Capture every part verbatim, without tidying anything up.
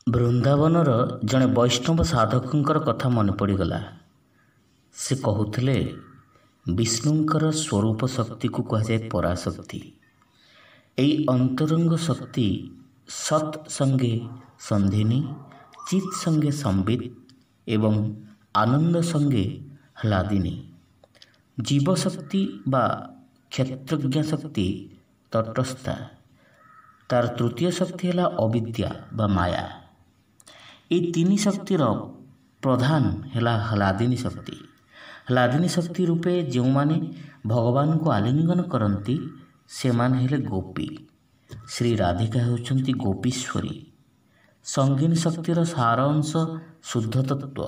ବୃନ୍ଦାବନର ଜଣେ ବୈଷ୍ଣବ ସାଧକଙ୍କର କଥା ମନେ ପଡ଼ିଗଲା। ସେ କହୁଥିଲେ, ବିଷ୍ଣୁଙ୍କର ସ୍ୱରୂପ ଶକ୍ତିକୁ କୁହାଯାଏ ପରାଶକ୍ତି। ଏଇ ଅନ୍ତରଙ୍ଗ ଶକ୍ତି ସତ୍ ସଙ୍ଗେ ସନ୍ଧିନୀ, ଚିତ୍ ସଙ୍ଗେ ସମ୍ବିତ ଏବଂ ଆନନ୍ଦ ସଙ୍ଗେ ହ୍ଲାଦିନୀ। ଜୀବଶକ୍ତି ବା କ୍ଷେତ୍ରଜ୍ଞ ଶକ୍ତି ତଟସ୍ଥା। ତାର ତୃତୀୟ ଶକ୍ତି ହେଲା ଅବିଦ୍ୟା ବା ମାୟା। ଏଇ ତିନି ଶକ୍ତିର ପ୍ରଧାନ ହେଲା ହ୍ଲାଦିନୀ ଶକ୍ତି। ହ୍ଲାଦିନୀ ଶକ୍ତି ରୂପେ ଯେଉଁମାନେ ଭଗବାନଙ୍କୁ ଆଲିଙ୍ଗନ କରନ୍ତି, ସେମାନେ ହେଲେ ଗୋପୀ। ଶ୍ରୀ ରାଧିକା ହେଉଛନ୍ତି ଗୋପୀଶ୍ୱରୀ। ସଙ୍ଗିନୀ ଶକ୍ତିର ସାର ଅଂଶ ଶୁଦ୍ଧ ତତ୍ତ୍ୱ।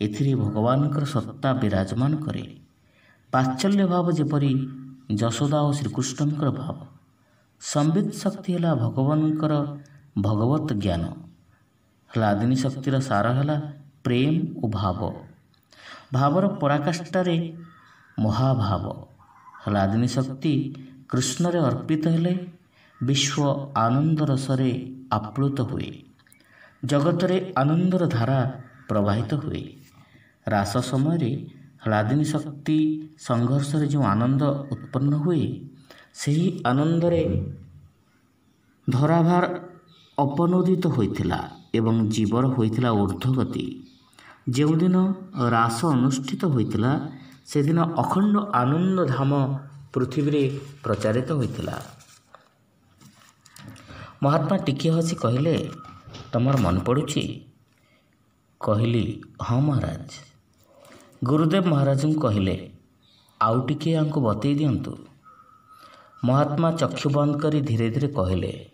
ଏଥିରେ ଭଗବାନଙ୍କର ସତ୍ତା ବିରାଜମାନ କରେ। ବାତ୍ସଲ୍ୟ ଭାବ ଯେପରି ଯଶୋଦା ଓ ଶ୍ରୀକୃଷ୍ଣଙ୍କର ଭାବ। ସମ୍ବିତ ଶକ୍ତି ହେଲା ଭଗବାନଙ୍କର ଭଗବତ ଜ୍ଞାନ। ହ୍ଲାଦିନୀ ଶକ୍ତିର ସାର ହେଲା ପ୍ରେମ ଓ ଭାବ। ଭାବର ପରାକାଷ୍ଠାରେ ମହାଭାବ। ହ୍ଲାଦିନୀ ଶକ୍ତି କୃଷ୍ଣରେ ଅର୍ପିତ ହେଲେ ବିଶ୍ୱ ଆନନ୍ଦ ରସରେ ଆପ୍ଲୁତ ହୁଏ। ଜଗତରେ ଆନନ୍ଦର ଧାରା ପ୍ରବାହିତ ହୁଏ। ରାସ ସମୟରେ ହ୍ଲାଦିନୀ ଶକ୍ତି ସଂଘର୍ଷରେ ଯେଉଁ ଆନନ୍ଦ ଉତ୍ପନ୍ନ ହୁଏ, ସେହି ଆନନ୍ଦରେ ଧରାଭାର ଅପନୋଦିତ ହୋଇଥିଲା ଏବଂ ଜୀବର ହୋଇଥିଲା ଊର୍ଦ୍ଧ୍ୱଗତି। ଯେଉଁଦିନ ରାସ ଅନୁଷ୍ଠିତ ହୋଇଥିଲା, ସେଦିନ ଅଖଣ୍ଡ ଆନନ୍ଦ ଧାମ ପୃଥିବୀରେ ପ୍ରଚାରିତ ହୋଇଥିଲା। ମହାତ୍ମା ଟିକିଏ ହସି କହିଲେ, ତମର ମନେ ପଡ଼ୁଛି? କହିଲି, ହଁ ମହାରାଜ। ଗୁରୁଦେବ ମହାରାଜଙ୍କୁ କହିଲେ, ଆଉ ଟିକିଏ ୟାଙ୍କୁ ବତେଇ ଦିଅନ୍ତୁ। ମହାତ୍ମା ଚକ୍ଷୁ ବନ୍ଦ କରି ଧୀରେ ଧୀରେ କହିଲେ,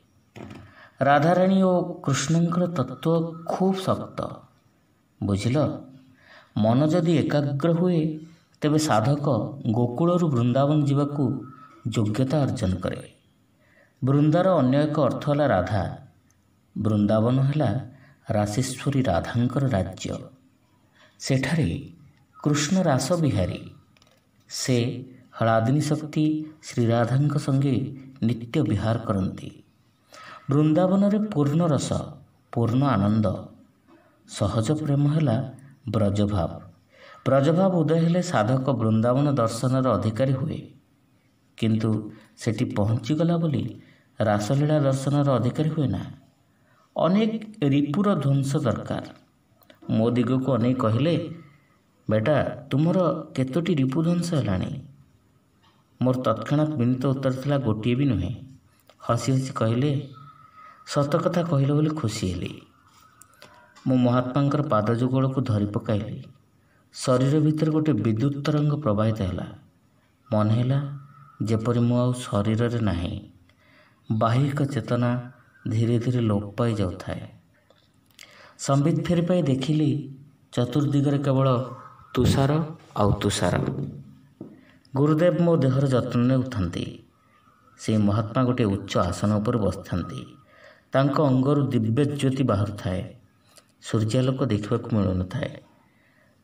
ରାଧାରାଣୀ ଓ କୃଷ୍ଣଙ୍କର ତତ୍ତ୍ୱ ଖୁବ୍ ଶକ୍ତ, ବୁଝିଲ? ମନ ଯଦି ଏକାଗ୍ର ହୁଏ, ତେବେ ସାଧକ ଗୋକୁଳରୁ ବୃନ୍ଦାବନ ଯିବାକୁ ଯୋଗ୍ୟତା ଅର୍ଜନ କରେ। ବୃନ୍ଦାର ଅନ୍ୟ ଏକ ଅର୍ଥ ହେଲା ରାଧା। ବୃନ୍ଦାବନ ହେଲା ରାସେଶ୍ୱରୀ ରାଧାଙ୍କର ରାଜ୍ୟ। ସେଠାରେ କୃଷ୍ଣ ରାସ ବିହାରୀ। ସେ ହ୍ଲାଦିନୀ ଶକ୍ତି ଶ୍ରୀରାଧାଙ୍କ ସଙ୍ଗେ ନିତ୍ୟ ବିହାର କରନ୍ତି। ବୃନ୍ଦାବନରେ ପୂର୍ଣ୍ଣ ରସ, ପୂର୍ଣ୍ଣ ଆନନ୍ଦ। ସହଜ ପ୍ରେମ ହେଲା ବ୍ରଜଭାବ। ବ୍ରଜଭାବ ଉଦୟ ହେଲେ ସାଧକ ବୃନ୍ଦାବନ ଦର୍ଶନର ଅଧିକାରୀ ହୁଏ। କିନ୍ତୁ ସେଠି ପହଞ୍ଚିଗଲା ବୋଲି ରାସଲୀଳା ଦର୍ଶନର ଅଧିକାରୀ ହୁଏ ନା। ଅନେକ ରିପୁର ଧ୍ୱଂସ ଦରକାର। ମୋ ଦିଗକୁ ଅନେଇ କହିଲେ, ବେଟା, ତୁମର କେତୋଟି ରିପୁ ଧ୍ୱଂସ ହେଲାଣି? ମୋର ତତ୍କ୍ଷଣାତ୍ ବିନୀତ ଉତ୍ତର ଥିଲା, ଗୋଟିଏ ବି ନୁହେଁ। ହସି ହସି କହିଲେ, ସତ କଥା କହିଲ ବୋଲି ଖୁସି ହେଲି। ମୁଁ ମହାତ୍ମାଙ୍କର ପାଦ ଯୁଗଳକୁ ଧରି ପକାଇଲି। ଶରୀର ଭିତରେ ଗୋଟିଏ ବିଦ୍ୟୁତ୍ ତରଙ୍ଗ ପ୍ରବାହିତ ହେଲା। ମନେ ହେଲା ଯେପରି ମୁଁ ଆଉ ଶରୀରରେ ନାହିଁ। ବାହ୍ୟିକ ଚେତନା ଧୀରେ ଧୀରେ ଲୋପ ପାଇଯାଉଥାଏ। ସମ୍ବିତ ଫେରି ପାଇ ଦେଖିଲି, ଚତୁର୍ଦିଗରେ କେବଳ ତୁଷାର ଆଉ ତୁଷାର। ଗୁରୁଦେବ ମୋ ଦେହର ଯତ୍ନ ନେଉଥାନ୍ତି। ସେଇ ମହାତ୍ମା ଗୋଟିଏ ଉଚ୍ଚ ଆସନ ଉପରେ ବସିଥାନ୍ତି। ତାଙ୍କ ଅଙ୍ଗରୁ ଦିବ୍ୟ ଜ୍ୟୋତି ବାହାରୁଥାଏ। ସୂର୍ଯ୍ୟାଲୋକ ଦେଖିବାକୁ ମିଳୁନଥାଏ।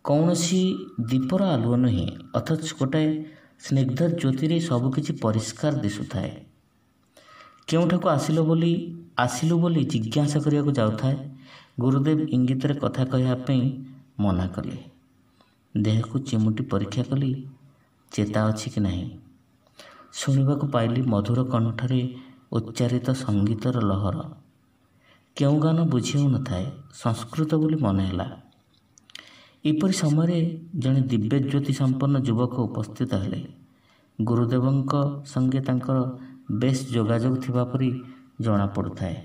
କୌଣସି ଦୀପର ଆଲୁଅ ନୁହେଁ, ଅଥଚ ଗୋଟାଏ ସ୍ନିଗ୍ଧ ଜ୍ୟୋତିରେ ସବୁକିଛି ପରିଷ୍କାର ଦିଶୁଥାଏ। କେଉଁଠାକୁ ଆସିଲ ବୋଲି ଆସିଲୁ ବୋଲି ଜିଜ୍ଞାସା କରିବାକୁ ଯାଉଥାଏ, ଗୁରୁଦେବ ଇଙ୍ଗିତରେ କଥା କହିବା ପାଇଁ ମନା କଲେ। ଦେହକୁ ଚିମୁଟି ପରୀକ୍ଷା କଲି, ଚେତା ଅଛି କି ନାହିଁ। ଶୁଣିବାକୁ ପାଇଲି ମଧୁର କଣ୍ଠରେ ଉଚ୍ଚାରିତ ସଙ୍ଗୀତର ଲହର। କେଉଁ ଗାନ ବୁଝି ହେଉନଥାଏ, ସଂସ୍କୃତ ବୋଲି ମନେ ହେଲା। ଏପରି ସମୟରେ ଜଣେ ଦିବ୍ୟଜ୍ୟୋତି ସମ୍ପନ୍ନ ଯୁବକ ଉପସ୍ଥିତ ହେଲେ। ଗୁରୁଦେବଙ୍କ ସଙ୍ଗେ ତାଙ୍କର ବେଶ୍ ଯୋଗାଯୋଗ ଥିବା ପରି ଜଣାପଡ଼ୁଥାଏ।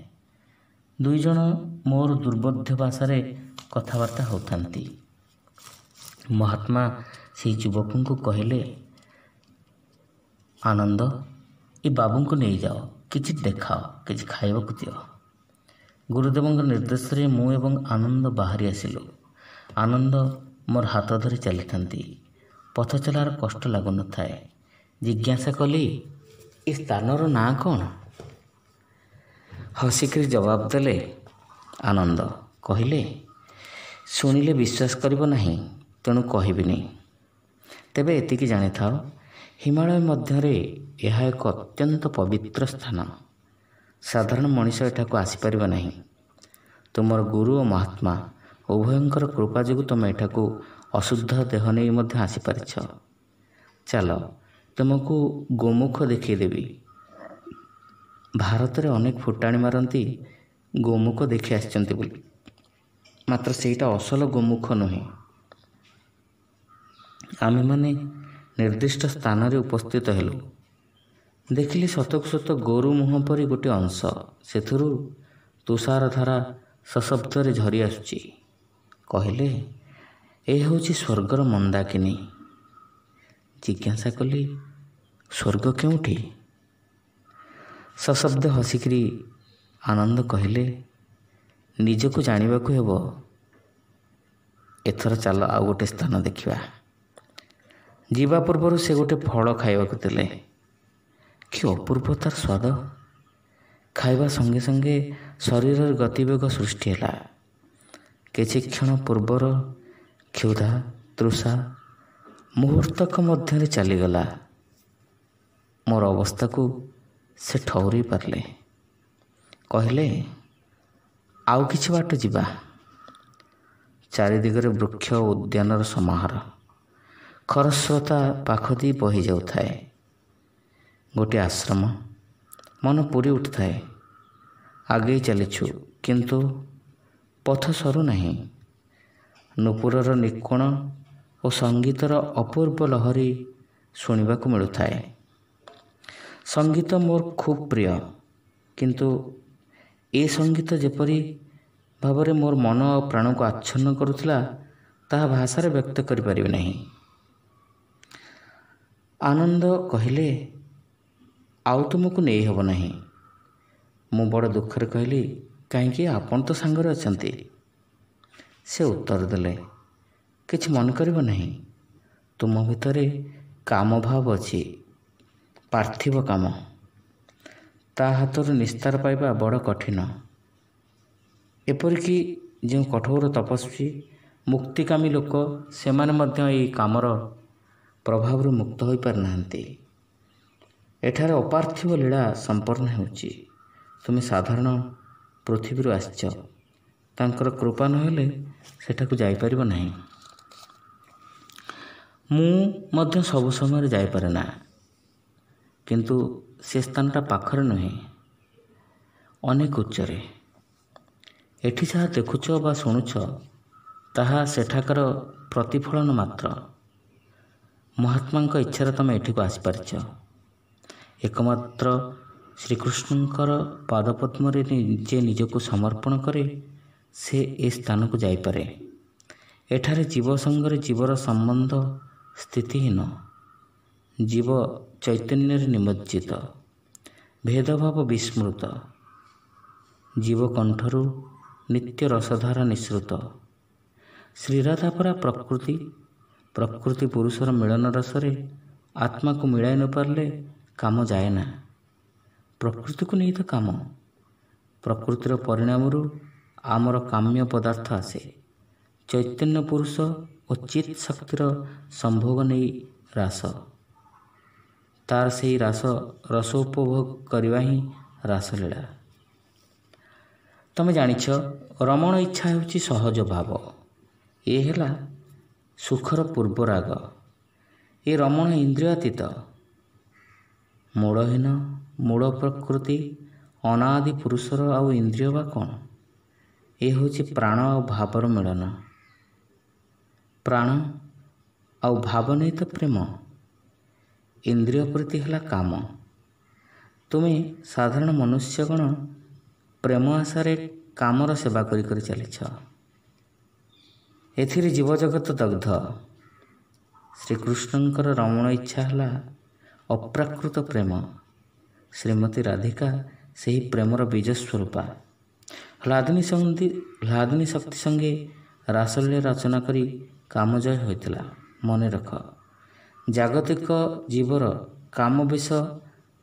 ଦୁଇ ଜଣ ମୋର ଦୁର୍ବୋଧ୍ୟ ଭାଷାରେ କଥାବାର୍ତ୍ତା ହେଉଥାନ୍ତି। ମହାତ୍ମା ସେହି ଯୁବକଙ୍କୁ କହିଲେ, ଆନନ୍ଦ, ଏ ବାବୁଙ୍କୁ ନେଇଯାଅ, କିଛି ଦେଖାଅ, କିଛି ଖାଇବାକୁ ଦିଅ। ଗୁରୁଦେବଙ୍କ ନିର୍ଦ୍ଦେଶରେ ମୁଁ ଏବଂ ଆନନ୍ଦ ବାହାରି ଆସିଲୁ। ଆନନ୍ଦ ମୋର ହାତ ଧରି ଚାଲିଥାନ୍ତି। ପଥ ଚଲାର କଷ୍ଟ ଲାଗୁନଥାଏ। ଜିଜ୍ଞାସା କଲି, ଏ ସ୍ଥାନର ନାଁ କ'ଣ? ହସିକରି ଜବାବ ଦେଲେ ଆନନ୍ଦ। କହିଲେ, ଶୁଣିଲେ ବିଶ୍ୱାସ କରିବ ନାହିଁ, ତେଣୁ କହିବିନି। ତେବେ ଏତିକି ଜାଣିଥାଅ, ହିମାଳୟ ମଧ୍ୟରେ ଏହା ଏକ ଅତ୍ୟନ୍ତ ପବିତ୍ର ସ୍ଥାନ। ସାଧାରଣ ମଣିଷ ଏଠାକୁ ଆସିପାରିବ ନାହିଁ। ତୁମର ଗୁରୁ ଓ ମହାତ୍ମା ଉଭୟଙ୍କର କୃପା ଯୋଗୁଁ ତୁମେ ଏଠାକୁ ଅଶୁଦ୍ଧ ଦେହ ନେଇ ମଧ୍ୟ ଆସିପାରିଛ। ଚାଲ, ତୁମକୁ ଗୋମୁଖ ଦେଖେଇଦେବି। ଭାରତରେ ଅନେକ ଫୁଟାଣି ମାରନ୍ତି ଗୋମୁଖ ଦେଖି ଆସିଛନ୍ତି ବୋଲି, ମାତ୍ର ସେଇଟା ଅସଲ ଗୋମୁଖ ନୁହେଁ। ଆମେମାନେ ନିର୍ଦ୍ଦିଷ୍ଟ ସ୍ଥାନରେ ଉପସ୍ଥିତ ହେଲୁ। ଦେଖିଲି ସତକୁ ସତ ଗୋରୁ ମୁହଁ ପରି ଗୋଟିଏ ଅଂଶ, ସେଥିରୁ ତୁଷାରଧାରା ସଶବ୍ଦରେ ଝରି ଆସୁଛି। କହିଲେ, ଏ ହେଉଛି ସ୍ୱର୍ଗର ମନ୍ଦାକିନୀ। ଜିଜ୍ଞାସା କଲି, ସ୍ୱର୍ଗ କେଉଁଠି? ସଶବ୍ଦ ହସିକିରି ଆନନ୍ଦ କହିଲେ, ନିଜକୁ ଜାଣିବାକୁ ହେବ। ଏଥର ଚାଲ ଆଉ ଗୋଟେ ସ୍ଥାନ ଦେଖିବା। ଯିବା ପୂର୍ବରୁ ସେ ଗୋଟେ ଫଳ ଖାଇବାକୁ ଦେଲେ। କି ଅପୂର୍ବ ତାର ସ୍ୱାଦ! ଖାଇବା ସଙ୍ଗେ ସଙ୍ଗେ ଶରୀରରେ ଗତିବେଗ ସୃଷ୍ଟି ହେଲା। କିଛି କ୍ଷଣ ପୂର୍ବର କ୍ଷୁଧା ତୃଷା ମୁହୂର୍ତ୍ତକ ମଧ୍ୟରେ ଚାଲିଗଲା। ମୋର ଅବସ୍ଥାକୁ ସେ ଠଉରେଇ ପାରିଲେ। କହିଲେ, ଆଉ କିଛି ବାଟ ଯିବା। ଚାରିଦିଗରେ ବୃକ୍ଷ ଓ ଉଦ୍ୟାନର ସମାହାର। ଖରସ୍ରୋତା ପାଖ ଦେଇ ବହି ଯାଉଥାଏ। ଗୋଟିଏ ଆଶ୍ରମ। ମନ ପୁରି ଉଠୁଥାଏ। ଆଗେଇ ଚାଲିଛୁ, କିନ୍ତୁ ପଥ ସରୁନାହିଁ। ନୂପୁରର ନିକ୍ୱଣ ଓ ସଙ୍ଗୀତର ଅପୂର୍ବ ଲହରୀ ଶୁଣିବାକୁ ମିଳୁଥାଏ। ସଙ୍ଗୀତ ମୋର ଖୁବ୍ ପ୍ରିୟ, କିନ୍ତୁ ଏ ସଙ୍ଗୀତ ଯେପରି ଭାବରେ ମୋର ମନ ଆଉ ପ୍ରାଣକୁ ଆଚ୍ଛନ୍ନ କରୁଥିଲା, ତାହା ଭାଷାରେ ବ୍ୟକ୍ତ କରିପାରିବି ନାହିଁ। ଆନନ୍ଦ କହିଲେ, ଆଉ ତୁମକୁ ନେଇ ହେବ ନାହିଁ। ମୁଁ ବଡ଼ ଦୁଃଖରେ କହିଲି, କାହିଁକି? ଆପଣ ତ ସାଙ୍ଗରେ ଅଛନ୍ତି। ସେ ଉତ୍ତର ଦେଲେ, କିଛି ମନେ କରିବ ନାହିଁ। ତୁମ ଭିତରେ କାମଭାବ ଅଛି, ପାର୍ଥିବ କାମ। ତା ହାତରୁ ନିସ୍ତାର ପାଇବା ବଡ଼ କଠିନ। ଏପରିକି ଯେଉଁ କଠୋର ତପସ୍ୱୀ ମୁକ୍ତିକାମୀ ଲୋକ, ସେମାନେ ମଧ୍ୟ ଏହି କାମର ପ୍ରଭାବରୁ ମୁକ୍ତ ହୋଇପାରିନାହାନ୍ତି। ଏଠାରେ ଅପାର୍ଥିବ ଲୀଳା ସମ୍ପନ୍ନ ହେଉଛି। ତୁମେ ସାଧାରଣ ପୃଥିବୀରୁ ଆସିଛ, ତାଙ୍କର କୃପା ନହେଲେ ସେଠାକୁ ଯାଇପାରିବ ନାହିଁ। ମୁଁ ମଧ୍ୟ ସବୁ ସମୟରେ ଯାଇପାରେ ନା, କିନ୍ତୁ ସେ ସ୍ଥାନଟା ପାଖରେ ନୁହେଁ, ଅନେକ ଉଚ୍ଚରେ। ଏଠି ଯାହା ଦେଖୁଛ ବା ଶୁଣୁଛ, ତାହା ସେଠାକାର ପ୍ରତିଫଳନ ମାତ୍ର। ମହାତ୍ମାଙ୍କ ଇଚ୍ଛାରେ ତୁମେ ଏଠିକୁ ଆସିପାରିଛ। ଏକମାତ୍ର ଶ୍ରୀକୃଷ୍ଣଙ୍କର ପାଦପଦ୍ମରେ ଯେ ନିଜକୁ ସମର୍ପଣ କରେ, ସେ ଏ ସ୍ଥାନକୁ ଯାଇପାରେ। ଏଠାରେ ଜୀବ ସଙ୍ଗରେ ଜୀବର ସମ୍ବନ୍ଧ ସ୍ଥିତିହୀନ। ଜୀବ ଚୈତନ୍ୟରେ ନିମଜ୍ଜିତ, ଭେଦଭାବ ବିସ୍ମୃତ। ଜୀବକଣ୍ଠରୁ ନିତ୍ୟ ରସଧାରା ନିଃସୃତ। ଶ୍ରୀରାଧା ପରା ପ୍ରକୃତି। ପ୍ରକୃତି ପୁରୁଷର ମିଳନ ରସରେ ଆତ୍ମାକୁ ମିଳାଇ ନପାରିଲେ କାମ ଯାଏ ନା। ପ୍ରକୃତିକୁ ନେଇ ତ କାମ। ପ୍ରକୃତିର ପରିଣାମରୁ ଆମର କାମ୍ୟ ପଦାର୍ଥ ଆସେ। ଚୈତନ୍ୟ ପୁରୁଷ ଓ ଚିତ୍ ଶକ୍ତିର ସମ୍ଭୋଗ ନେଇ ରାସ। ତାର ସେଇ ରାସ ରସୋପଭୋଗ କରିବା ହିଁ ରାସଲୀଳା। ତମେ ଜାଣିଛ, ରମଣ ଇଚ୍ଛା ହେଉଛି ସହଜ ଭାବ। ଏ ହେଲା ସୁଖର ପୂର୍ବରାଗ। ଏ ରମଣ ଇନ୍ଦ୍ରିୟାତୀତ, ମୂଳହୀନ, ମୂଳ ପ୍ରକୃତି ଅନାଦି ପୁରୁଷର ଆଉ ଇନ୍ଦ୍ରିୟ ବା କ'ଣ? ଏ ହେଉଛି ପ୍ରାଣ ଆଉ ଭାବର ମିଳନ। ପ୍ରାଣ ଆଉ ଭାବ ନେଇ ତ ପ୍ରେମ। ଇନ୍ଦ୍ରିୟ ପ୍ରତି ହେଲା କାମ। ତୁମେ ସାଧାରଣ ମନୁଷ୍ୟଗଣ ପ୍ରେମ ଆଶାରେ କାମର ସେବା କରି କରି ଚାଲିଛ। ଏଥିରେ ଜୀବଜଗତ ଦଗ୍ଧ। ଶ୍ରୀକୃଷ୍ଣଙ୍କର ରମଣ ଇଚ୍ଛା ହେଲା ଅପ୍ରାକୃତ ପ୍ରେମ। ଶ୍ରୀମତୀ ରାଧିକା ସେହି ପ୍ରେମର ବୀଜ ସ୍ୱରୂପା। ହ୍ଲାଦିନୀ ସଙ୍ଗୀ ହ୍ଲାଦିନୀ ଶକ୍ତି ସଙ୍ଗେ ରାସଲୀଳା ରଚନା କରି କାମଜୟ ହୋଇଥିଲା। ମନେ ରଖ, ଜାଗତିକ ଜୀବର କାମ ବିଷ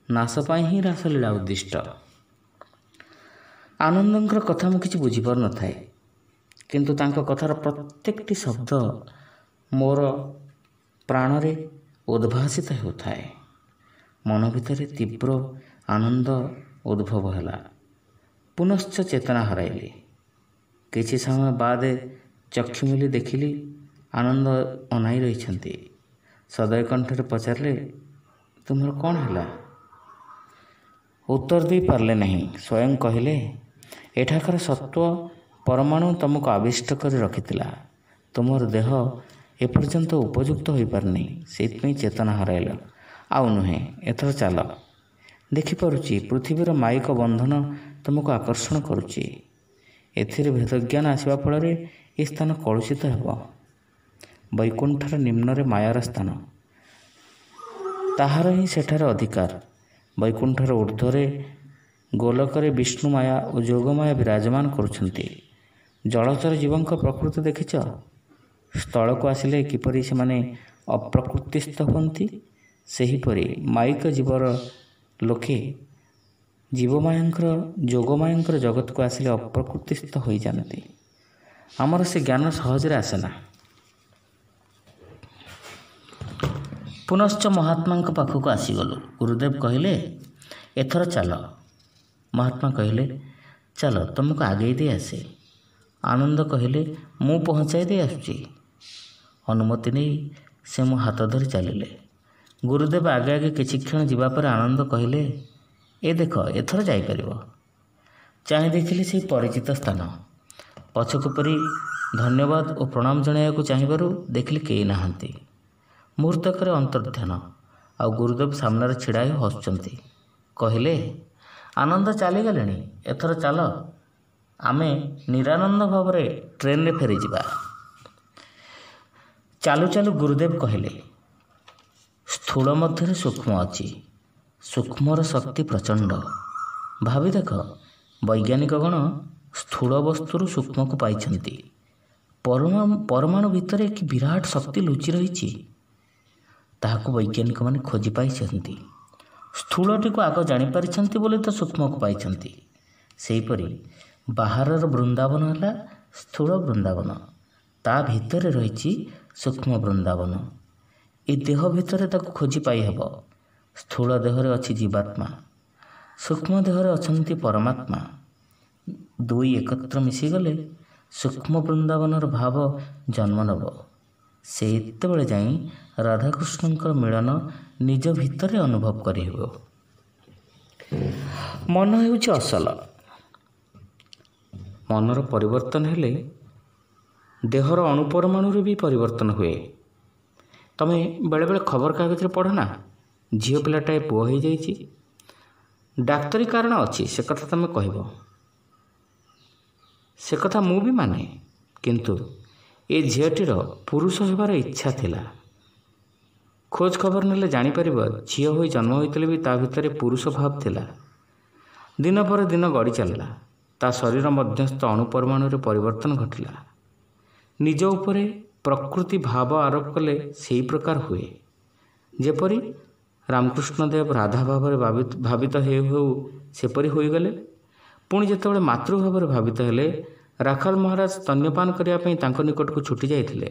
ନାଶ ପାଇଁ ହିଁ ରାସଲୀଳା ଉଦ୍ଦିଷ୍ଟ। ଆନନ୍ଦଙ୍କର କଥା ମୁଁ କିଛି ବୁଝିପାରୁନଥାଏ, କିନ୍ତୁ ତାଙ୍କ କଥାର ପ୍ରତ୍ୟେକଟି ଶବ୍ଦ ମୋର ପ୍ରାଣରେ ଉଦ୍ଭାସିତ ହେଉଥାଏ। ମନ ଭିତରେ ତୀବ୍ର ଆନନ୍ଦ ଉଦ୍ଭବ ହେଲା। ପୁନଶ୍ଚ ଚେତନା ହରାଇଲି। କିଛି ସମୟ ବାଦେ ଚକ୍ଷୁ ମେଲି ଦେଖିଲି ଆନନ୍ଦ ଅନାଇ ରହିଛନ୍ତି। ସଦୟ କଣ୍ଠରେ ପଚାରିଲେ, ତୁମର କ'ଣ ହେଲା? ଉତ୍ତର ଦେଇପାରିଲେ ନାହିଁ। ସ୍ୱୟଂ କହିଲେ, ଏଠାକାର ସତ୍ତ୍ୱ ପରମାଣୁ ତୁମକୁ ଆବିଷ୍ଟ କରି ରଖିଥିଲା। ତୁମର ଦେହ ଏପର୍ଯ୍ୟନ୍ତ ଉପଯୁକ୍ତ ହୋଇପାରିନି, ସେଇଥିପାଇଁ ଚେତନା ହରାଇଲ। ଆଉ ନୁହେଁ, ଏଥର ଚାଲ। ଦେଖିପାରୁଛି ପୃଥିବୀର ମାୟିକ ବନ୍ଧନ ତୁମକୁ ଆକର୍ଷଣ କରୁଛି। ଏଥିରେ ଭେଦଜ୍ଞାନ ଆସିବା ଫଳରେ ଏ ସ୍ଥାନ କଳୁଷିତ ହେବ। ବୈକୁଣ୍ଠର ନିମ୍ନରେ ମାୟାର ସ୍ଥାନ, ତାହାର ହିଁ ସେଠାରେ ଅଧିକାର। ବୈକୁଣ୍ଠର ଊର୍ଦ୍ଧ୍ୱରେ ଗୋଲକରେ ବିଷ୍ଣୁ ମାୟା ଓ ଯୋଗମାୟା ବିରାଜମାନ କରୁଛନ୍ତି। ଜଳଚର ଜୀବଙ୍କ ପ୍ରକୃତି ଦେଖିଛ? ସ୍ଥଳକୁ ଆସିଲେ କିପରି ସେମାନେ ଅପ୍ରକୃତିସ୍ଥ ହୁଅନ୍ତି, ସେହିପରି ମାୟିକ ଜୀବର ଲୋକେ ଜୀବମାୟାଙ୍କର ଯୋଗମାୟାଙ୍କର ଜଗତକୁ ଆସିଲେ ଅପ୍ରକୃତିସ୍ଥ ହୋଇଯାଆନ୍ତି। ଆମର ସେ ଜ୍ଞାନ ସହଜରେ ଆସେନା। ପୁନଶ୍ଚ ମହାତ୍ମାଙ୍କ ପାଖକୁ ଆସିଗଲୁ। ଗୁରୁଦେବ କହିଲେ, ଏଥର ଚାଲ। ମହାତ୍ମା କହିଲେ, ଚାଲ ତୁମକୁ ଆଗେଇ ଦେଇ ଆସେ। ଆନନ୍ଦ କହିଲେ, ମୁଁ ପହଞ୍ଚାଇ ଦେଇ ଆସୁଛି। ଅନୁମତି ନେଇ ସେ ମୋ ହାତ ଧରି ଚାଲିଲେ। ଗୁରୁଦେବ ଆଗେ ଆଗେ କିଛି କ୍ଷଣ ଯିବା ପରେ ଆନନ୍ଦ କହିଲେ, ଏ ଦେଖ, ଏଥର ଯାଇପାରିବ। ଚାହିଁ ଦେଖିଲି ସେଇ ପରିଚିତ ସ୍ଥାନ। ପଛକୁ ପରି ଧନ୍ୟବାଦ ଓ ପ୍ରଣାମ ଜଣାଇବାକୁ ଚାହିଁବାରୁ ଦେଖିଲି କେହି ନାହାନ୍ତି। ମୁହୂର୍ତ୍ତକରେ ଅନ୍ତର୍ଧ୍ୟାନ, ଆଉ ଗୁରୁଦେବ ସାମ୍ନାରେ ଛିଡ଼ା ହୋଇ ହସୁଛନ୍ତି। କହିଲେ, ଆନନ୍ଦ ଚାଲିଗଲେଣି, ଏଥର ଚାଲ, ଆମେ ନିରାନନ୍ଦ ଭାବରେ ଟ୍ରେନରେ ଫେରିଯିବା। ଚାଲୁ ଚାଲୁ ଗୁରୁଦେବ କହିଲେ, ସ୍ଥୂଳ ମଧ୍ୟରେ ସୂକ୍ଷ୍ମ ଅଛି, ସୂକ୍ଷ୍ମର ଶକ୍ତି ପ୍ରଚଣ୍ଡ। ଭାବି ଦେଖ, ବୈଜ୍ଞାନିକଗଣ ସ୍ଥୂଳ ବସ୍ତୁରୁ ସୂକ୍ଷ୍ମକୁ ପାଇଛନ୍ତି। ପରମାଣୁ ଭିତରେ କି ବିରାଟ ଶକ୍ତି ଲୁଚି ରହିଛି, ତାହାକୁ ବୈଜ୍ଞାନିକମାନେ ଖୋଜି ପାଇଛନ୍ତି। ସ୍ଥୂଳଟିକୁ ଆଗ ଜାଣିପାରିଛନ୍ତି ବୋଲି ତ ସୂକ୍ଷ୍ମକୁ ପାଇଛନ୍ତି। ସେହିପରି ବାହାରର ବୃନ୍ଦାବନ ହେଲା ସ୍ଥୂଳ ବୃନ୍ଦାବନ, ତା ଭିତରେ ରହିଛି ସୂକ୍ଷ୍ମ ବୃନ୍ଦାବନ। ଏ ଦେହ ଭିତରେ ତାକୁ ଖୋଜି ପାଇହେବ। ସ୍ଥୂଳ ଦେହରେ ଅଛି ଜୀବାତ୍ମା, ସୂକ୍ଷ୍ମ ଦେହରେ ଅଛନ୍ତି ପରମାତ୍ମା। ଦୁଇ ଏକତ୍ର ମିଶିଗଲେ ସୂକ୍ଷ୍ମ ବୃନ୍ଦାବନର ଭାବ ଜନ୍ମ ନେବ। ସେତେବେଳେ ଯାଇ ରାଧାକୃଷ୍ଣଙ୍କର ମିଳନ ନିଜ ଭିତରେ ଅନୁଭବ କରିହେବ। ମନ ହେଉଛି ଅସଲ। ମନର ପରିବର୍ତ୍ତନ ହେଲେ ଦେହର ଅଣୁପରମାଣୁରେ ବି ପରିବର୍ତ୍ତନ ହୁଏ। ତମେ ବେଳେବେଳେ ଖବରକାଗଜରେ ପଢ଼ ନା, ଝିଅ ପିଲାଟାଏ ପୁଅ ହେଇଯାଇଛି। ଡାକ୍ତରୀ କାରଣ ଅଛି, ସେ କଥା ତମେ କହିବ, ସେ କଥା ମୁଁ ବି ମାନେ। କିନ୍ତୁ ଏ ଝିଅଟିର ପୁରୁଷ ହେବାର ଇଚ୍ଛା ଥିଲା। ଖୋଜ ଖବର ନେଲେ ଜାଣିପାରିବ, ଝିଅ ହୋଇ ଜନ୍ମ ହୋଇଥିଲେ ବି ତା ଭିତରେ ପୁରୁଷ ଭାବ ଥିଲା। ଦିନ ପରେ ଦିନ ଗଡ଼ି ଚାଲିଲା, ତା ଶରୀର ମଧ୍ୟସ୍ଥ ଅଣୁପରମାଣୁରେ ପରିବର୍ତ୍ତନ ଘଟିଲା। ନିଜ ଉପରେ ପ୍ରକୃତି ଭାବ ଆରୋପ କଲେ ସେହି ପ୍ରକାର ହୁଏ। ଯେପରି ରାମକୃଷ୍ଣ ଦେବ ରାଧା ଭାବରେ ଭାବିତ ହେଉ ହେଉ ସେପରି ହୋଇଗଲେ। ପୁଣି ଯେତେବେଳେ ମାତୃଭାବରେ ଭାବିତ ହେଲେ, ରାଖାଲ ମହାରାଜ ସ୍ତନ୍ୟପାନ କରିବା ପାଇଁ ତାଙ୍କ ନିକଟକୁ ଛୁଟି ଯାଇଥିଲେ।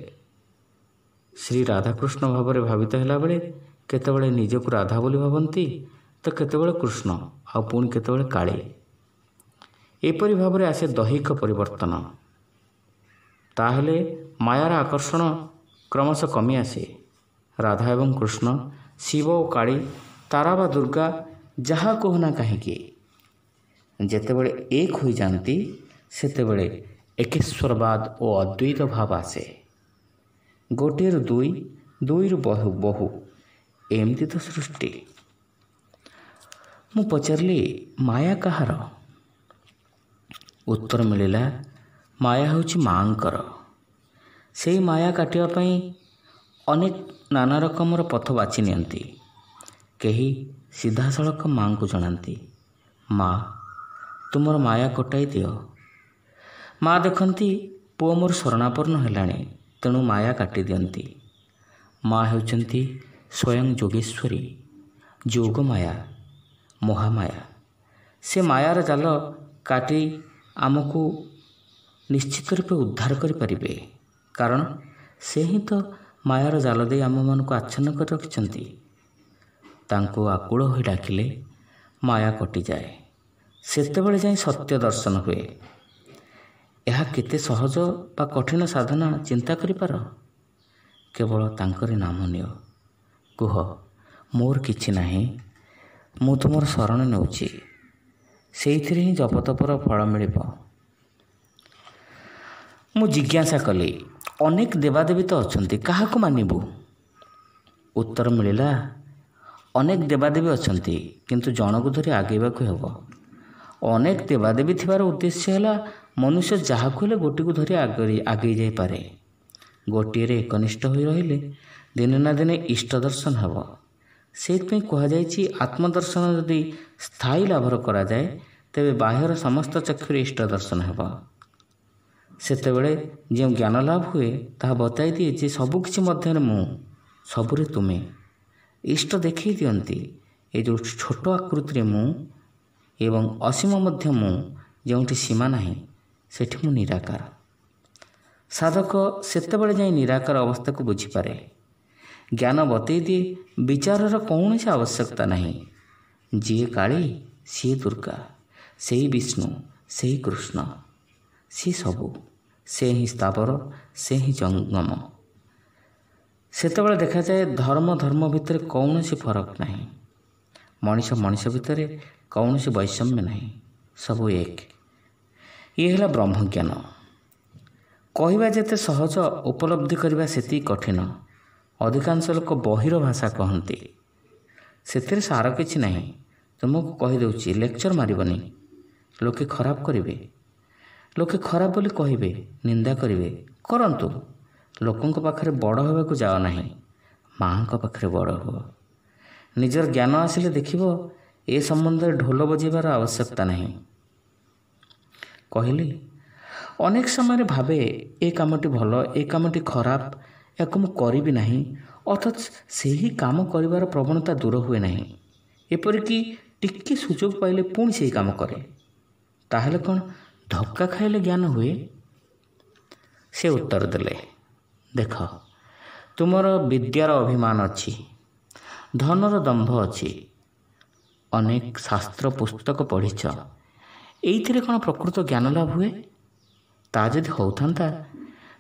ଶ୍ରୀ ରାଧାକୃଷ୍ଣ ଭାବରେ ଭାବିତ ହେଲାବେଳେ କେତେବେଳେ ନିଜକୁ ରାଧା ବୋଲି ଭାବନ୍ତି ତ କେତେବେଳେ କୃଷ୍ଣ, ଆଉ ପୁଣି କେତେବେଳେ କାଳୀ। ଏପରି ଭାବରେ ଆସେ ଦୈହିକ ପରିବର୍ତ୍ତନ। ତାହେଲେ ମାୟାର ଆକର୍ଷଣ କ୍ରମଶଃ କମି ଆସେ। ରାଧା ଏବଂ କୃଷ୍ଣ, ଶିବ ଓ କାଳୀ, ତାରା ବା ଦୁର୍ଗା, ଯାହା କହୁନା କାହିଁକି, ଯେତେବେଳେ ଏକ ହୋଇଯାଆନ୍ତି ସେତେବେଳେ ଏକେଶ୍ୱରବାଦ ଓ ଅଦ୍ୱୈତ ଭାବ ଆସେ। ଗୋଟିଏରୁ ଦୁଇ, ଦୁଇରୁ ବହୁ ବହୁ, ଏମିତି ତ ସୃଷ୍ଟି। ମୁଁ ପଚାରିଲି, ମାୟା କାହାର? ଉତ୍ତର ମିଳିଲା, ମାୟା ହେଉଛି ମାଆଙ୍କର। ସେଇ ମାୟା କାଟିବା ପାଇଁ ଅନେକ ନାନା ରକମର ପଥ ବାଛି ନିଅନ୍ତି। କେହି ସିଧାସଳଖ ମାଆଙ୍କୁ ଜଣାନ୍ତି, ମା ତୁମର ମାୟା କଟାଇ ଦିଅ। ମା ଦେଖନ୍ତି ପୁଅ ମୋର ଶରଣାପନ୍ନ ହେଲାଣି, ତେଣୁ ମାୟା କାଟି ଦିଅନ୍ତି। ମା ହେଉଛନ୍ତି ସ୍ୱୟଂ ଯୋଗେଶ୍ୱରୀ, ଯୋଗମାୟା, ମହାମାୟା। ସେ ମାୟାର ଜାଲ କାଟି ଆମକୁ ନିଶ୍ଚିତ ରୂପେ ଉଦ୍ଧାର କରିପାରିବେ, କାରଣ ସେ ହିଁ ତ ମାୟାର ଜାଲ ଦେଇ ଆମମାନଙ୍କୁ ଆଚ୍ଛନ୍ନ କରି ରଖିଛନ୍ତି। ତାଙ୍କୁ ଆକୁଳ ହୋଇ ଡାକିଲେ ମାୟା କଟିଯାଏ। ସେତେବେଳେ ଯାଇ ସତ୍ୟ ଦର୍ଶନ ହୁଏ। ଏହା କେତେ ସହଜ ବା କଠିନ ସାଧନା ଚିନ୍ତା କରିପାର? କେବଳ ତାଙ୍କରି ନାମ ନିଅ, କୁହ ମୋର କିଛି ନାହିଁ, ମୁଁ ତୁମର ଶରଣ ନେଉଛି। ସେଇଥିରେ ହିଁ ଜପତପର ଫଳ ମିଳିବ। ମୁଁ ଜିଜ୍ଞାସା କଲି, ଅନେକ ଦେବାଦେବୀ ତ ଅଛନ୍ତି, କାହାକୁ ମାନିବୁ? ଉତ୍ତର ମିଳିଲା, ଅନେକ ଦେବାଦେବୀ ଅଛନ୍ତି, କିନ୍ତୁ ଜଣକୁ ଧରି ଆଗେଇବାକୁ ହେବ। ଅନେକ ଦେବାଦେବୀ ଥିବାର ଉଦ୍ଦେଶ୍ୟ ହେଲା ମନୁଷ୍ୟ ଯାହାକୁ ହେଲେ ଗୋଟିକୁ ଧରି ଆଗେଇ ଯାଇପାରେ। ଗୋଟିଏରେ ଏକନିଷ୍ଠ ହୋଇ ରହିଲେ ଦିନେ ନା ଦିନେ ଇଷ୍ଟ ଦର୍ଶନ ହେବ। ସେଇଥିପାଇଁ କୁହାଯାଇଛି, ଆତ୍ମଦର୍ଶନ ଯଦି ସ୍ଥାୟୀ ଲାଭର କରାଯାଏ ତେବେ ବାହ୍ୟର ସମସ୍ତ ଚକ୍ଷୁରେ ଇଷ୍ଟ ଦର୍ଶନ ହେବ। ସେତେବେଳେ ଯେଉଁ ଜ୍ଞାନ ଲାଭ ହୁଏ ତାହା ବତାଇ ଦିଏ ଯେ ସବୁକିଛି ମଧ୍ୟରେ ମୁଁ, ସବୁରେ ତୁମେ। ଇଷ୍ଟ ଦେଖାଇ ଦିଅନ୍ତି ଏ ଯେଉଁ ଛୋଟ ଆକୃତିରେ ମୁଁ ଏବଂ ଅସୀମ ମଧ୍ୟ ମୁଁ, ଯେଉଁଠି ସୀମା ନାହିଁ ସେଠି ମୁଁ ନିରାକାର। ସାଧକ ସେତେବେଳେ ଯାଇ ନିରାକାର ଅବସ୍ଥାକୁ ବୁଝିପାରେ। ଜ୍ଞାନ ବତେଇ ଦିଏ ବିଚାରର କୌଣସି ଆବଶ୍ୟକତା ନାହିଁ। ଯିଏ କାଳୀ ସିଏ ଦୁର୍ଗା, ସେଇ ବିଷ୍ଣୁ, ସେଇ କୃଷ୍ଣ, ସିଏ ସବୁ, ସେ ହିଁ ସ୍ଥାବର, ସେ ହିଁ ଜଙ୍ଗମ। ସେତେବେଳେ ଦେଖାଯାଏ ଧର୍ମ ଧର୍ମ ଭିତରେ କୌଣସି ଫରକ ନାହିଁ, ମଣିଷ ମଣିଷ ଭିତରେ କୌଣସି ବୈଷମ୍ୟ ନାହିଁ, ସବୁ ଏକ। ଇଏ ହେଲା ବ୍ରହ୍ମଜ୍ଞାନ। କହିବା ଯେତେ ସହଜ, ଉପଲବ୍ଧି କରିବା ସେତିକି କଠିନ। ଅଧିକାଂଶ ଲୋକ ବହିର ଭାଷା କହନ୍ତି, ସେଥିରେ ସାର କିଛି ନାହିଁ। ତୁମକୁ କହିଦେଉଛି, ଲେକ୍ଚର ମାରିବନି, ଲୋକେ ଖରାପ କରିବେ, ଲୋକେ ଖରାପ ବୋଲି କହିବେ, ନିନ୍ଦା କରିବେ, କରନ୍ତୁ। ଲୋକଙ୍କ ପାଖରେ ବଡ଼ ହେବାକୁ ଯାଅ ନାହିଁ, ମାଆଙ୍କ ପାଖରେ ବଡ଼ ହୁଅ। ନିଜର ଜ୍ଞାନ ଆସିଲେ ଦେଖିବ ଏ ସମ୍ବନ୍ଧରେ ଢୋଲ ବଜେଇବାର ଆବଶ୍ୟକତା ନାହିଁ। କହିଲି, ଅନେକ ସମୟରେ ଭାବେ ଏ କାମଟି ଭଲ, ଏ କାମଟି ଖରାପ, ଏହାକୁ ମୁଁ କରିବି ନାହିଁ, ଅଥଚ ସେହି କାମ କରିବାର ପ୍ରବଣତା ଦୂର ହୁଏ ନାହିଁ। ଏପରିକି ଟିକେ ସୁଯୋଗ ପାଇଲେ ପୁଣି ସେହି କାମ କରେ। ତାହେଲେ କ'ଣ ଧକ୍କା ଖାଇଲେ ଜ୍ଞାନ ହୁଏ? ସେ ଉତ୍ତର ଦେଲେ, ଦେଖ, ତୁମର ବିଦ୍ୟାର ଅଭିମାନ ଅଛି, ଧନର ଦମ୍ଭ ଅଛି, ଅନେକ ଶାସ୍ତ୍ର ପୁସ୍ତକ ପଢ଼ିଛ, ଏଇଥିରେ କ'ଣ ପ୍ରକୃତ ଜ୍ଞାନ ଲାଭ ହୁଏ? ତା ଯଦି ହେଉଥାନ୍ତା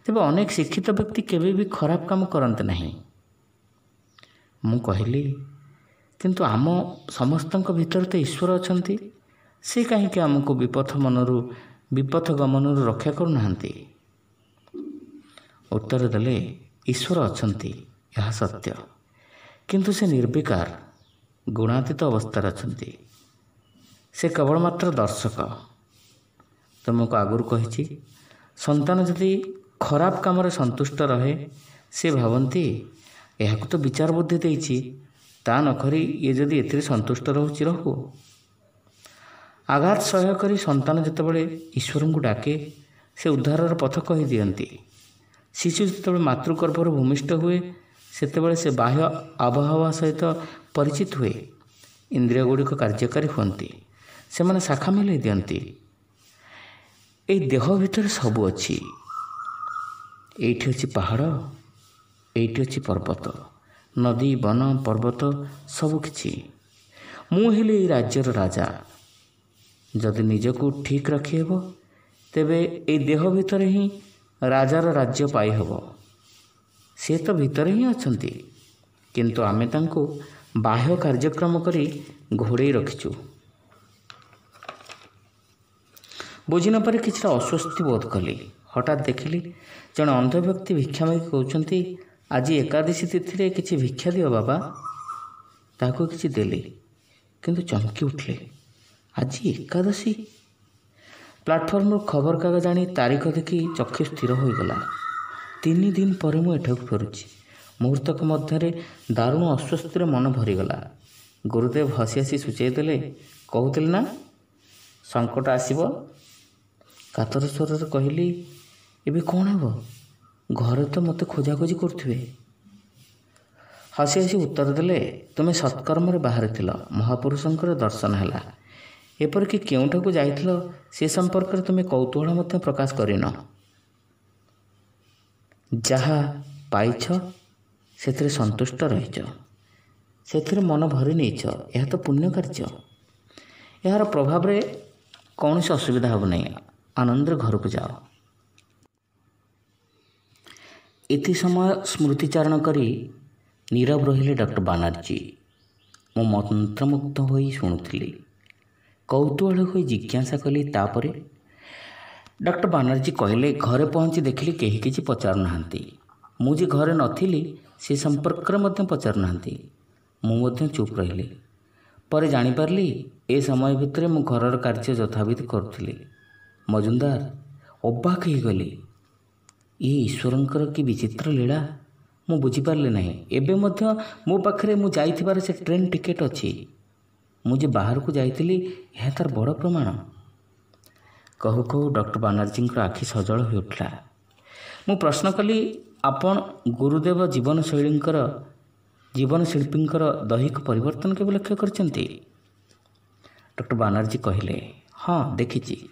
ତେବେ ଅନେକ ଶିକ୍ଷିତ ବ୍ୟକ୍ତି କେବେ ବି ଖରାପ କାମ କରନ୍ତି ନାହିଁ। ମୁଁ କହିଲି, କିନ୍ତୁ ଆମ ସମସ୍ତଙ୍କ ଭିତରେ ତ ଈଶ୍ୱର ଅଛନ୍ତି, ସେ କାହିଁକି ଆମକୁ ବିପଥ ମନରୁ ବିପଥ ଗମନରୁ ରକ୍ଷା କରୁନାହାନ୍ତି? ଉତ୍ତର ଦେଲେ, ଈଶ୍ୱର ଅଛନ୍ତି, ଏହା ସତ୍ୟ, କିନ୍ତୁ ସେ ନିର୍ବିକାର ଗୁଣାତୀତ ଅବସ୍ଥାରେ ଅଛନ୍ତି। ସେ କେବଳ ମାତ୍ର ଦର୍ଶକ। ତୁମକୁ ଆଗରୁ କହିଛି, ସନ୍ତାନ ଯଦି ଖରାପ କାମରେ ସନ୍ତୁଷ୍ଟ ରହେ, ସେ ଭାବନ୍ତି ଏହାକୁ ତ ବିଚାର ବୁଦ୍ଧି ଦେଇଛି, ତା ନକରି ଇଏ ଯଦି ଏଥିରେ ସନ୍ତୁଷ୍ଟ ରହୁଛି ରହୁ। ଆଘାତ ସହ୍ୟ କରି ସନ୍ତାନ ଯେତେବେଳେ ଈଶ୍ୱରଙ୍କୁ ଡାକେ, ସେ ଉଦ୍ଧାରର ପଥ କହିଦିଅନ୍ତି। ଶିଶୁ ଯେତେବେଳେ ମାତୃଗର୍ଭରୁ ଭୂମିଷ୍ଠ ହୁଏ, ସେତେବେଳେ ସେ ବାହ୍ୟ ଆବହାୱା ସହିତ ପରିଚିତ ହୁଏ। ଇନ୍ଦ୍ରିୟ ଗୁଡ଼ିକ କାର୍ଯ୍ୟକାରୀ ହୁଅନ୍ତି, ସେମାନେ ଶାଖା ମେଲାଇ ଦିଅନ୍ତି। ଏଇ ଦେହ ଭିତରେ ସବୁ ଅଛି। ଏଇଠି ଅଛି ପାହାଡ଼, ଏଇଠି ଅଛି ପର୍ବତ, ନଦୀ, ବନ, ପର୍ବତ, ସବୁକିଛି। ମୁଁ ହେଲି ଏଇ ରାଜ୍ୟର ରାଜା। ଯଦି ନିଜକୁ ଠିକ୍ ରଖିହେବ, ତେବେ ଏଇ ଦେହ ଭିତରେ ହିଁ ରାଜାର ରାଜ୍ୟ ପାଇହେବ। ସେ ତ ଭିତରେ ହିଁ ଅଛନ୍ତି, କିନ୍ତୁ ଆମେ ତାଙ୍କୁ ବାହ୍ୟ କାର୍ଯ୍ୟକ୍ରମ କରି ଘୋଡ଼େଇ ରଖିଛୁ। ବୁଝି ନପାରି କିଛିଟା ଅସ୍ୱସ୍ତି ବୋଧ କଲି। ହଠାତ୍ ଦେଖିଲି ଜଣେ ଅନ୍ଧ ବ୍ୟକ୍ତି ଭିକ୍ଷା ମାଗି କହୁଛନ୍ତି, ଆଜି ଏକାଦଶୀ ତିଥିରେ କିଛି ଭିକ୍ଷା ଦିଅ ବାବା। ତାହାକୁ କିଛି ଦେଲି, କିନ୍ତୁ ଚମକି ଉଠିଲେ, ଆଜି ଏକାଦଶୀ? ପ୍ଲାଟଫର୍ମରୁ ଖବରକାଗଜ ଆଣି ତାରିଖ ଦେଖି ଚକ୍ଷୁ ସ୍ଥିର ହୋଇଗଲା। ତିନି ଦିନ ପରେ ମୁଁ ଏଠାକୁ ଫେରୁଛି। ମୁହୂର୍ତ୍ତକ ମଧ୍ୟରେ ଦାରୁଣ ଅସ୍ୱସ୍ତିରେ ମନ ଭରିଗଲା। ଗୁରୁଦେବ ହସି ହସି ସୂଚାଇ ଦେଲେ, କହୁଥିଲେ ନା ସଙ୍କଟ ଆସିବ? କାତର ସ୍ୱରରେ କହିଲି, ଏବେ କ'ଣ ହେବ? ଘରେ ତ ମୋତେ ଖୋଜାଖୋଜି କରୁଥିବେ। ହସି ହସି ଉତ୍ତର ଦେଲେ, ତୁମେ ସତ୍କର୍ମରେ ବାହାରିଥିଲ, ମହାପୁରୁଷଙ୍କର ଦର୍ଶନ ହେଲା, ଏପରିକି କେଉଁଠାକୁ ଯାଇଥିଲ ସେ ସମ୍ପର୍କରେ ତୁମେ କୌତୂହଳ ମଧ୍ୟ ପ୍ରକାଶ କରିନ। ଯାହା ପାଇଛ ସେଥିରେ ସନ୍ତୁଷ୍ଟ ରହିଛ, ସେଥିରେ ମନ ଭରି ନେଇଛ, ଏହା ତ ପୁଣ୍ୟ କାର୍ଯ୍ୟ। ଏହାର ପ୍ରଭାବରେ କୌଣସି ଅସୁବିଧା ହେବ ନାହିଁ। ଆନନ୍ଦରେ ଘରକୁ ଯାଅ। ଏତେ ସମୟ ସ୍ମୃତିଚାରଣ କରି ନୀରବ ରହିଲେ ଡକ୍ଟର ବାନାର୍ଜୀ। ମୁଁ ମନ୍ତ୍ରମୁଗ୍ଧ ହୋଇ ଶୁଣୁଥିଲି। କୌତୂହଳ ହୋଇ ଜିଜ୍ଞାସା କଲି, ତାପରେ? ଡକ୍ଟର ବାନାର୍ଜୀ କହିଲେ, ଘରେ ପହଞ୍ଚି ଦେଖିଲି କେହି କିଛି ପଚାରୁନାହାନ୍ତି। ମୁଁ ଯେ ଘରେ ନଥିଲି ସେ ସମ୍ପର୍କରେ ମଧ୍ୟ ପଚାରୁନାହାନ୍ତି। ମୁଁ ମଧ୍ୟ ଚୁପ୍ ରହିଲି। ପରେ ଜାଣିପାରିଲି ଏ ସମୟ ଭିତରେ ମୁଁ ଘରର କାର୍ଯ୍ୟ ଯଥାବିଧି କରୁଥିଲି। ମଜୁମଦାର, ଅବାକ୍ ହେଇଗଲି। ଏ ଈଶ୍ୱରଙ୍କର କି ବିଚିତ୍ର ଲୀଳା, ମୁଁ ବୁଝିପାରିଲି ନାହିଁ। ଏବେ ମଧ୍ୟ ମୋ ପାଖରେ ମୁଁ ଯାଇଥିବାର ସେ ଟ୍ରେନ୍ ଟିକେଟ୍ ଅଛି। ମୁଁ ଯେ ବାହାରକୁ ଯାଇଥିଲି ଏହା ତାର ବଡ଼ ପ୍ରମାଣ। କହୁ କହୁ ଡକ୍ଟର ବାନାର୍ଜୀଙ୍କର ଆଖି ସଜଳ ହୋଇଉଠିଲା। ମୁଁ ପ୍ରଶ୍ନ କଲି, ଆପଣ ଗୁରୁଦେବ ଜୀବନଶୈଳୀଙ୍କର ଜୀବନଶିଳ୍ପୀଙ୍କର ଦୈହିକ ପରିବର୍ତ୍ତନ କେବେ ଲକ୍ଷ୍ୟ କରିଛନ୍ତି? ଡକ୍ଟର ବାନାର୍ଜୀ କହିଲେ, ହଁ ଦେଖିଛି।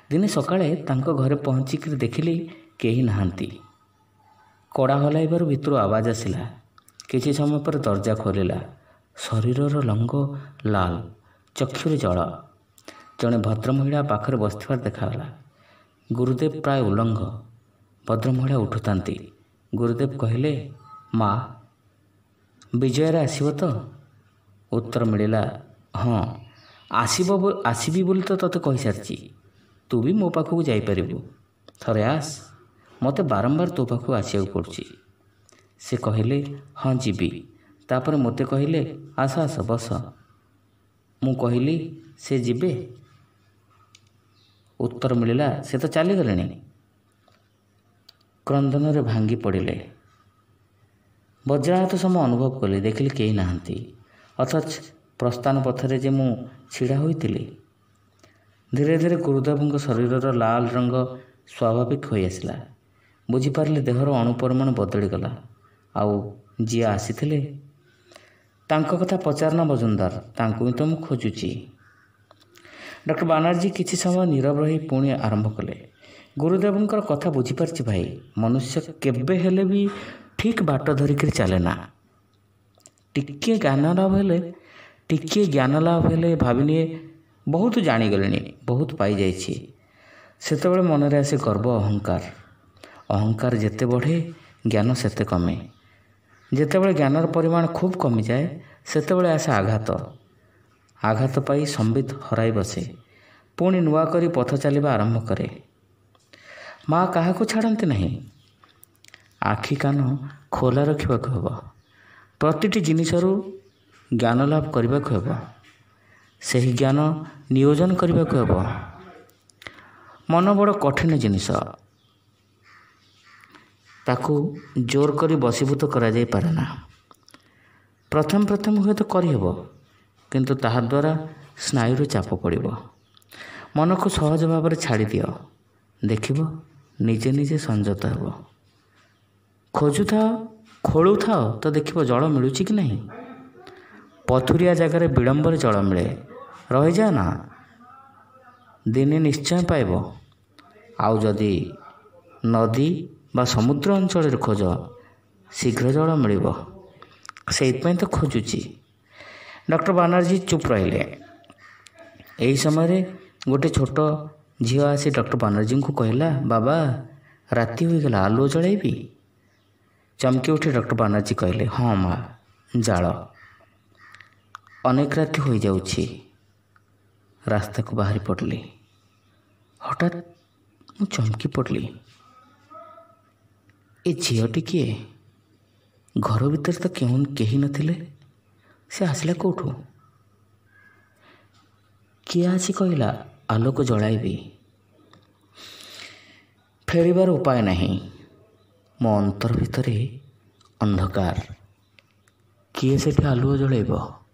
ଦିନେ ସକାଳେ ତାଙ୍କ ଘରେ ପହଞ୍ଚିକରି ଦେଖିଲି କେହି ନାହାନ୍ତି। କଡ଼ା ହଲାଇବାରୁ ଭିତରୁ ଆବାଜ ଆସିଲା। କିଛି ସମୟ ପରେ ଦରଜା ଖୋଲିଲା। ଶରୀରର ରଙ୍ଗ ଲାଲ, ଚକ୍ଷୁରେ ଜଳ। ଜଣେ ଭଦ୍ରମହିଳା ପାଖରେ ବସିଥିବାର ଦେଖାଗଲା। ଗୁରୁଦେବ ପ୍ରାୟ ଉଲଙ୍ଗ। ଭଦ୍ରମହିଳା ଉଠୁଥାନ୍ତି। ଗୁରୁଦେବ କହିଲେ, ମା, ବିଜୟରେ ଆସିବ ତ? ଉତ୍ତର ମିଳିଲା, ହଁ ଆସିବ, ଆସିବି ବୋଲି ତ ତୋତେ କହିସାରିଛି। ତୁ ବି ମୋ ପାଖକୁ ଯାଇପାରିବୁ, ଥରେ ଆସ। ମୋତେ ବାରମ୍ବାର ତୋ ପାଖକୁ ଆସିବାକୁ ପଡ଼ୁଛି। ସେ କହିଲେ, ହଁ ଯିବି। ତାପରେ ମୋତେ କହିଲେ, ଆସ ଆସ ବସ। ମୁଁ କହିଲି, ସେ ଯିବେ? ଉତ୍ତର ମିଳିଲା, ସେ ତ ଚାଲିଗଲେଣି। କ୍ରନ୍ଦନରେ ଭାଙ୍ଗି ପଡ଼ିଲେ। ବଜ୍ରାଘାତ ସମ ଅନୁଭବ କଲି। ଦେଖିଲି କେହି ନାହାନ୍ତି, ଅଥଚ ପ୍ରସ୍ଥାନ ପଥରେ ଯେ ମୁଁ ଛିଡ଼ା ହୋଇଥିଲି। ଧୀରେ ଧୀରେ ଗୁରୁଦେବଙ୍କ ଶରୀରର ଲାଲ ରଙ୍ଗ ସ୍ୱାଭାବିକ ହୋଇଆସିଲା। ବୁଝିପାରିଲି ଦେହର ଅଣୁପରମାଣୁ ବଦଳିଗଲା। ଆଉ ଯିଏ ଆସିଥିଲେ ତାଙ୍କ କଥା ପଚାରନା ମଜୁମଦାର, ତାଙ୍କୁ ହିଁ ତ ମୁଁ ଖୋଜୁଛି। ଡକ୍ଟର ବାନାର୍ଜୀ କିଛି ସମୟ ନୀରବ ରହି ପୁଣି ଆରମ୍ଭ କଲେ, ଗୁରୁଦେବଙ୍କର କଥା ବୁଝିପାରିଛି ଭାଇ। ମନୁଷ୍ୟ କେବେ ହେଲେ ବି ଠିକ୍ ବାଟ ଧରିକିରି ଚାଲେ ନା। ଟିକିଏ ଜ୍ଞାନ ଲାଭ ହେଲେ ଟିକିଏ ଜ୍ଞାନ ଲାଭ ହେଲେ ଭାବିନିଏ ବହୁତ ଜାଣିଗଲିଣି, ବହୁତ ପାଇଯାଇଛି। ସେତେବେଳେ ମନରେ ଆସେ ଗର୍ବ, ଅହଙ୍କାର। ଅହଙ୍କାର ଯେତେ ବଢ଼େ ଜ୍ଞାନ ସେତେ କମେ। ଯେତେବେଳେ ଜ୍ଞାନର ପରିମାଣ ଖୁବ୍ କମିଯାଏ ସେତେବେଳେ ଆସେ ଆଘାତ। ଆଘାତ ପାଇ ସମ୍ବିତ ହରାଇ ବସେ। ପୁଣି ନୂଆ କରି ପଥ ଚାଲିବା ଆରମ୍ଭ କରେ। ମା କାହାକୁ ଛାଡ଼ନ୍ତି ନାହିଁ। ଆଖି କାନ ଖୋଲା ରଖିବାକୁ ହେବ। ପ୍ରତିଟି ଜିନିଷରୁ ଜ୍ଞାନ ଲାଭ କରିବାକୁ ହେବ। ସେହି ଜ୍ଞାନ ନିୟୋଜନ କରିବାକୁ ହେବ। ମନ ବଡ଼ କଠିନ ଜିନିଷ, ତାକୁ ଜୋର କରି ବଶୀଭୂତ କରାଯାଇପାରେ ନା। ପ୍ରଥମେ ପ୍ରଥମେ ହୁଏତ କରିହେବ, କିନ୍ତୁ ତାହାଦ୍ୱାରା ସ୍ନାୟୁରେ ଚାପ ପଡ଼ିବ। ମନକୁ ସହଜ ଭାବରେ ଛାଡ଼ିଦିଅ, ଦେଖିବ ନିଜେ ନିଜେ ସଂଯତ ହେବ। ଖୋଜୁଥାଅ, ଖୋଳୁଥାଅ ତ ଦେଖିବ ଜଳ ମିଳୁଛି କି ନାହିଁ। ପଥୁରିଆ ଜାଗାରେ ବିଳମ୍ବରେ ଜଳ ମିଳେ। ରହିଯାଅ ନା, ଦିନେ ନିଶ୍ଚୟ ପାଇବ। ଆଉ ଯଦି ନଦୀ ବା ସମୁଦ୍ର ଅଞ୍ଚଳରେ ଖୋଜ, ଶୀଘ୍ର ଜଳ ମିଳିବ। ସେଇଥିପାଇଁ ତ ଖୋଜୁଛି। ଡକ୍ଟର ବାନାର୍ଜୀ ଚୁପ୍ ରହିଲେ। ଏହି ସମୟରେ ଗୋଟେ ଛୋଟ ଝିଅ ଆସି ଡକ୍ଟର ବାନାର୍ଜୀଙ୍କୁ କହିଲା, ବାବା ରାତି ହୋଇଗଲା, ଆଲୁଅ ଜଳାଇବି? ଚମକି ଉଠି ଡକ୍ଟର ବାନାର୍ଜୀ କହିଲେ, ହଁ ମା, ଜାଳ। ଅନେକ ରାତି ହୋଇଯାଉଛି। ରାସ୍ତାକୁ ବାହାରି ପଡ଼ିଲି। ହଠାତ୍ ମୁଁ ଚମକି ପଡ଼ିଲି। ଏ ଝିଅଟି କିଏ? ଘର ଭିତରେ ତ କେଉଁ କେହି ନଥିଲେ, ସେ ଆସିଲା କେଉଁଠୁ? କିଏ ଆସି କହିଲା, ଆଲୋକ ଜଳାଇବି? ଫେରିବାର ଉପାୟ ନାହିଁ। ମୋ ଅନ୍ତର ଭିତରେ ଅନ୍ଧକାର। କିଏ ସେଠି ଆଲୁଅ ଜଳାଇବ?